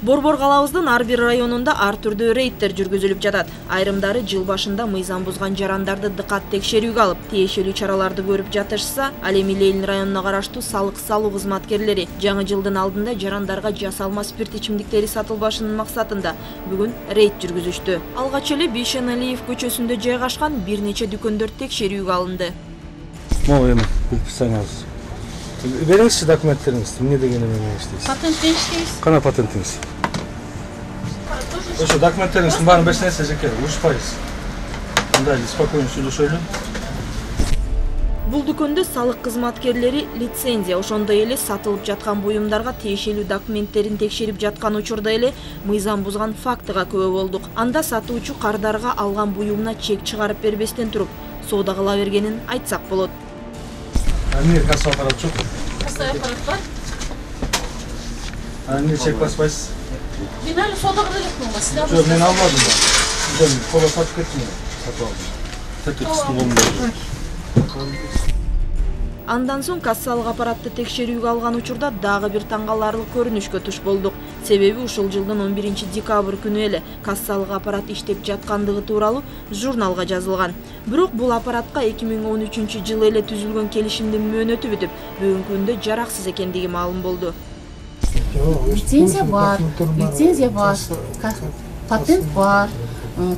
Борбор калабыздын ар бир районунда ар түрдүү рейдтер жүргүзүлүп жатат. Айрымдары жыл башында мыйзам бузган жарандарды дыкат текшерүүгө алып, тиешелүү чараларды көрүп жатышса, ал эми Ленин районуна караштуу салык салуу кызматкерлери жаңы жылдын алдында жарандарга жасалма спирт ичимдиктери сатылбашынын максатында бүгүн рейд жүргүзүштү. Алгач эле Бейшеналиев көчөсүндө жайгашкан бир нече дүкөндөр текшерүүгө алынды. Могу эми предписанияңыз. Бериңизчи документтериңизди, эмне деген эме иштейсиз? Патентте иштейбиз. Кана патентиңиз? Ошо документтериңиздин баарын берсеңиз эжеке, урушпайбыз. Мындай спокойно сүйлөшөлү. Бул дүкөндө салык кызматкерлери лицензия, ошондой эле сатылып жаткан буюмдарга тиешелүү документтерин текшерип жаткан учурда эле мыйзам бузган фактыга күбө болдук. Анда сатуучу кардарга алган буюмуна чек чыгарып бербестен туруп, соода кыла бергенин айтсак болот. Эмне касса аппарат жок? Касса аппарат бар. Эмне чек баспайсыз? Мен али соода кыла жокмун го, сиз Жок, мен алмадым да. Сизден кола сатып кеттим. Сатып алдым. Тетикстин колунда. Андан соң кассалык аппаратты текшерүүгө алган учурда дагы бир таң каларлык көрүнүшкө туш болдук. Себеби ушул жылдын 11 декабрь күнү эле кассалык аппарат иштеп жаткандыгы тууралуу журналга жазылган. Бирок бул аппаратка 2013 жылы эле түзүлгөн келишимдин мөөнөтү бүтүп, бүгүнкү күндө жараксыз экендиги маалым болду. Лицензия бар, патент бар,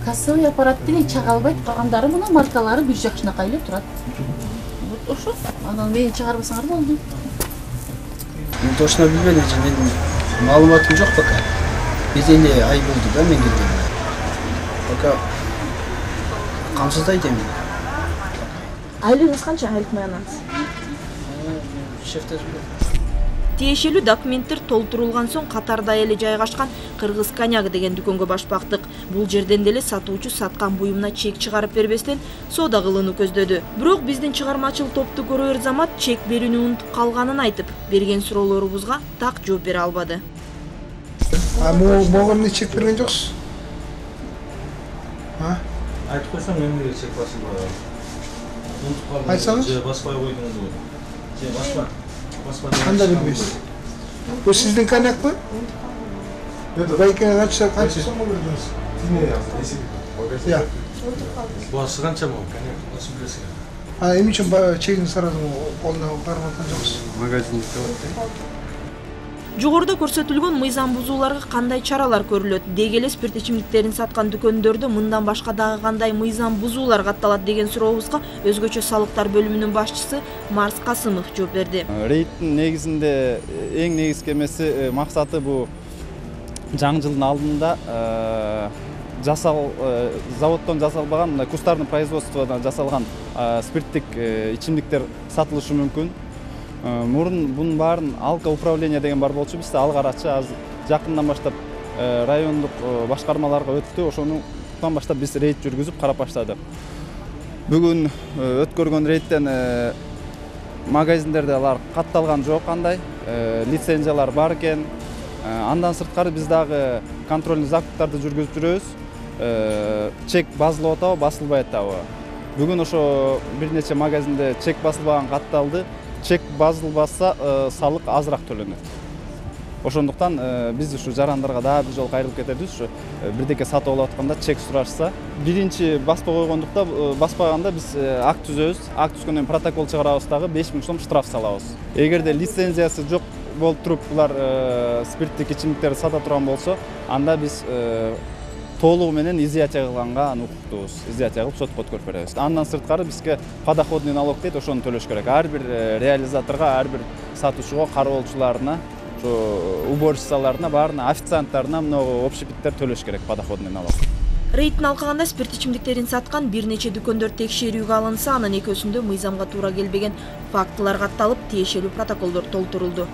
кассовый аппарат деле чыга албайт, калгандары мына маркалары бир жакшынакай эле турат. Вот ошо, анан мени чыгарбасаңар болду. Мен точно билбедим, менин маалыматым жок пока. Биз эле ай болду да мен келгениме. Пока камсыздайт эми. Айлыгыңыз канча айлык маянаңыз? Шефтер. Тиешелүү документтер толтурулган соң катарда эле жайгашкан Кыргыз коньяк деген дүкөнгө башпактык. Бул жерден деле сатуучу саткан буюмуна чек чыгарып бербестен соода кылууну көздөдү. Бирок биздин чыгармачыл топту көрөр замат чек берүүнү унутуп калганын айтып, берген суроолорубузга так жооп бере албады. Могу эмне чек берген жоксуз? Айтып койсоң эмнеге чек басылбай? Унутуп калдым. Айтсаңыз? Же баспай койдуңузбу? Же басма. Кандай билбейсиз? Бул сиздин коньякпы? Байкени ачса канча сом бердиңиз? Басы канча могу? Коньяк басып билесиз. Эмне үчүн чегин сурадым, колуна барып аткан жоксуз? Магазин иштеп. Жогоруда көрсөтүлгөн мыйзам бузууларга кандай чаралар көрүлөт? Деги эле спирт ичимдиктерин саткан дүкөндөрдө мындан башка дагы кандай мыйзам бузуулар катталат деген сурообузга өзгөчө салыктар бөлүмүнүн башчысы Марс Касымов жооп берди. Рейдтин негизинде эң негизги эмеси максаты бул жаңы жылдын алдында заводдон жасалбаган, кустарный производстводан жасалган спирттик ичимдиктер сатылышы мүмкүн. Мурун бунун баарын алка управление деген бар болчу, бизде ал карачы азыр жакындан баштап райондук башкармаларга өттү. Ошондон баштап биз рейд жүргүзүп карап баштадык. Бүгүн өткөргөн рейдтен магазиндерде алар катталган жок кандай, лицензиялар бар экен. Андан сырткары биз дагы контрольный закуптарды жүргүзүп жүрөбүз. Чек басылып атабы, басылбай атабы. Бүгүн ошо бир нече магазинде чек басылбаган катталды. Чек басылбаса салык азыраак төлөнөт. Ошондуктан биз ушу жарандарга дагы бир жолу кайрылып кетебиз. Ушу бирдеке сатып алып атканда чек сурашса, биринчи баспай койгондукта, баспаганда биз акт түзөбүз. Акт түзгөндөн протокол чыгарабыз дагы 5000 сом штраф салабыз. Эгерде лицензиясы жок болуп туруп булар спирттик ичимдиктерди сата турган болсо, анда биз толугу менен изъятие кылганга укуктуубуз. Изъятие кылып сотко өткөрүп беребиз. Андан сырткары бизге подоходный налог дейт, ошону төлөш керек. Ар бир реализаторго, ар бир сатуучуга, кароолчуларына, ошо уборщицаларына, баарына, официанттарына много общепиттер төлөш керек подоходный налог. Рейдтин алкагында спирт ичимдиктерин саткан бир нече дүкөндөр текшерүүгө алынса, анын экөөсүндө мыйзамга туура келбеген фактылар катталып, тиешелүү протоколдор толтурулду.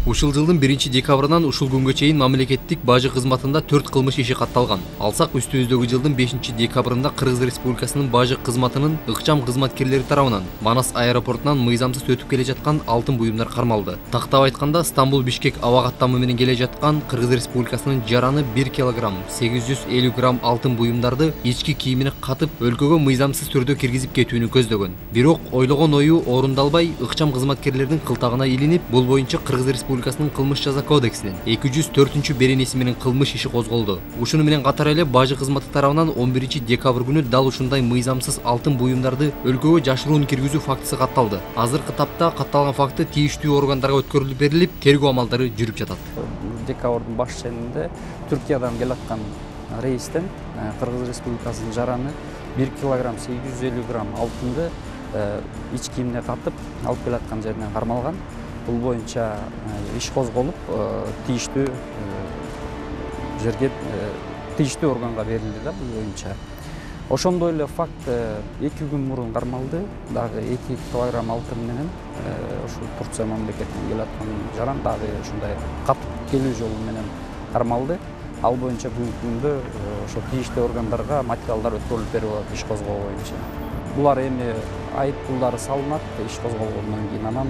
Ушул жылдын 1-декабрынан ушул күнгө чейин мамлекеттик бажы кызматында 4 кылмыш иши катталган. Алсак үстүбүздөгү жылдын 5-декабрында Кыргыз Республикасынын бажы кызматынын ыкчам кызматкерлери тарабынан Манас аэропортунан мыйзамсыз өтүп келе жаткан алтын буюмдар кармалды. Тактап айтканда, Стамбул-Бишкек аба каттамы менен келе жаткан Кыргыз Республикасынын жараны 1 килограмм 850 грамм алтын буюмдарды ички кийимине катып, өлкөгө мыйзамсыз түрдө киргизип кетүүнү көздөгөн. Бирок ойлогон ою орундалбай, ыкчам кызматкерлердин кылтагына илинип, бул боюнча Кыргыз Республикасынын кылмыш жаза кодексинин 204-беренеси менен кылмыш иши козголду. Ушуну менен катар эле бажы кызматы тарабынан 11-декабрь күнү дал ушундай мыйзамсыз алтын буюмдарды өлкөгө жашыруун киргизүү фактысы катталды. Азыркы тапта катталган факты тийиштүү органдарга өткөрүлүп берилип, тергөө амалдары жүрүп жатат. Декабрдын баш ченинде Түркиядан келаткан рейстен Кыргыз Республикасынын жараны 1 килограмм 850 грамм алтынды ич кийимине катып алып келаткан жеринен кармалган. Бул боюнча иш козголуп, тийиштүү жерге тийиштүү органга берилди да бул боюнча. Ошондой эле факт 2 күн мурун кармалды. Дагы 2 килограмм алтын менен ушул Турция мамлекетинен келаткан жаран дагы ушундай катып келүү жолу менен кармалды. Ал боюнча бүгүнкү күндө ошо тийиштүү органдарга материалдар өткөрүлүп берип атат иш козгоо боюнча. Булар эми айып пулдары салынат иш козголгондон кийин, анан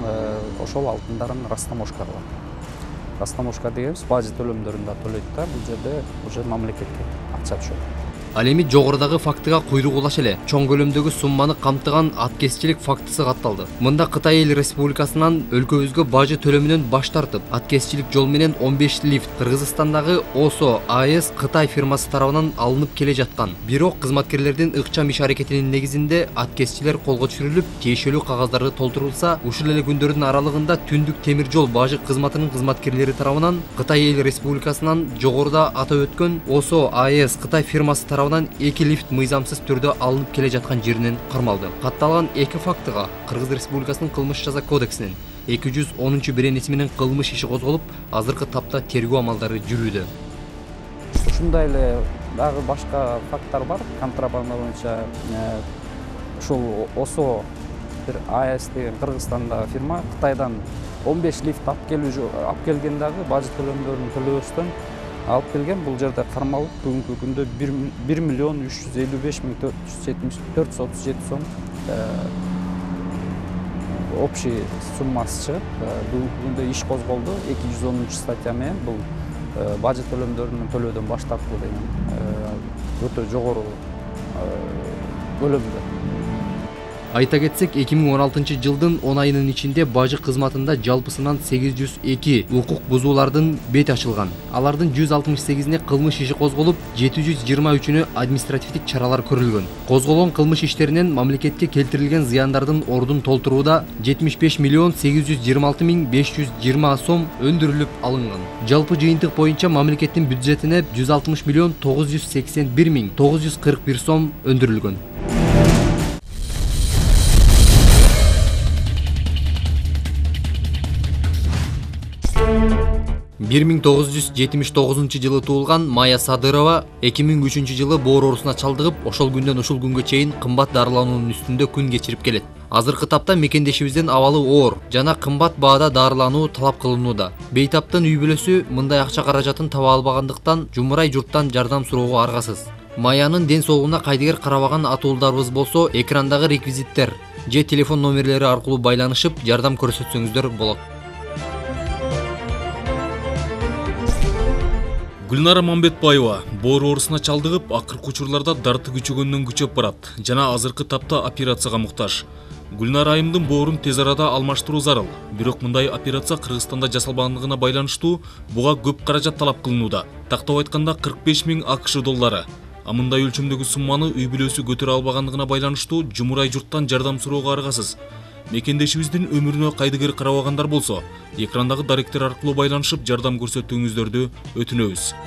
ошол алтындарын растаможкага. Растаможка дегенибиз бажы төлөмдөрүн да төлөйт да, бул жерде уже мамлекетке акча түшөт. Ал эми жогорудагы фактыга куйрук улаш эле чоң көлөмдөгү сумманы камтыган аткезчилик фактысы катталды. Мында Кытай Эл Республикасынан өлкөбүзгө бажы төлөмүнөн баш тартып, аткезчилик жол менен 15 лифт Кыргызстандагы ОСО АЭС Кытай фирмасы тарабынан алынып келе жаткан. Бирок кызматкерлердин ыкчам иш аракетинин негизинде аткезчилер колго түшүрүлүп, тиешелүү кагаздары толтурулса, ушул эле күндөрдүн аралыгында Түндүк темир жол бажы кызматынын кызматкерлери тарабынан Кытай Эл Республикасынан жогоруда атап өткөн ОСО АЭС Кытай фирмасы тарабынан 2 лифт мыйзамсыз түрдө алынып келе жаткан жеринен кармалды. Катталган 2 фактыга Кыргыз Республикасынын кылмыш жаза кодексинин 210-беренеси менен кылмыш иши козголуп, азыркы тапта тергөө амалдары жүрүүдө. Ушундай эле дагы башка факттар бар. Контрабанда боюнча ушул ОСО бир АЭС деген Кыргызстандагы фирма Кытайдан 15 лифт алып келген дагы бажы төлөмдөрүн төлөбөстөн алып келген. Бул жерде кармалып, бүгүнкү күндө 1.355.437 сом общий суммасы чыгып, бүгүнкү күндө иш козголду 210-статья менен. Бул бажы төлөмдөрүн төлөөдөн баш тартуу деген өтө жогору бөлүмдө. Айта кетсек, 2016 жылдын 10 айынын ичинде бажы кызматында жалпысынан 802 укук бузуулардын бети ачылган. Алардын 168-ине кылмыш иши козголуп, 723-үнө административдик чаралар көрүлгөн. Козголгон кылмыш иштеринен мамлекетке келтирилген зыяндардын ордун толтурууда 75.826.520 сом өндүрүлүп алынган. Жалпы жыйынтык боюнча мамлекеттин бюджетине 160.981.941 сом өндүрүлгөн. 1979 жылы туулган Майя Садырова 2003 жылы боор оорусуна чалдыгып, ошол күндөн ушул күнгө чейин кымбат дарылануунун үстүндө күн кечирип келет. Азыркы тапта мекендешибизден абалы оор жана кымбат баада дарылануу талап кылынууда. Бейтаптын үй бүлөсү мындай акча каражатын таба албагандыктан жумурай журттан жардам суроого аргасыз. Майянын ден соолугуна кайдыгер карабаган атуулдарыбыз болсо, экрандагы реквизиттер же телефон номерлери аркылуу байланышып, жардам көрсөтсөңүздөр болот. Гүлнара Мамбетбаева боор оорусуна чалдыгып, акыркы учурларда дарты күчөгөндөн күчөп барат жана азыркы тапта операцияга муктаж. Гүлнара айымдын боорун тез арада алмаштыруу зарыл. Бирок мындай операция Кыргызстанда жасалбагандыгына байланыштуу буга көп каражат талап кылынууда. Тактап айтканда 45.000 АКШ доллары. А мындай өлчөмдөгү сумманы үй бүлөсү көтөрө албагандыгына байланыштуу жумурай журттан жардам суроого аргасыз. Мекендешибиздин өмүрүнө кайдыгер карабагандар болсо, экрандагы даректер аркылуу байланышып жардам көрсөтүүңүздөрдү өтүнөбүз.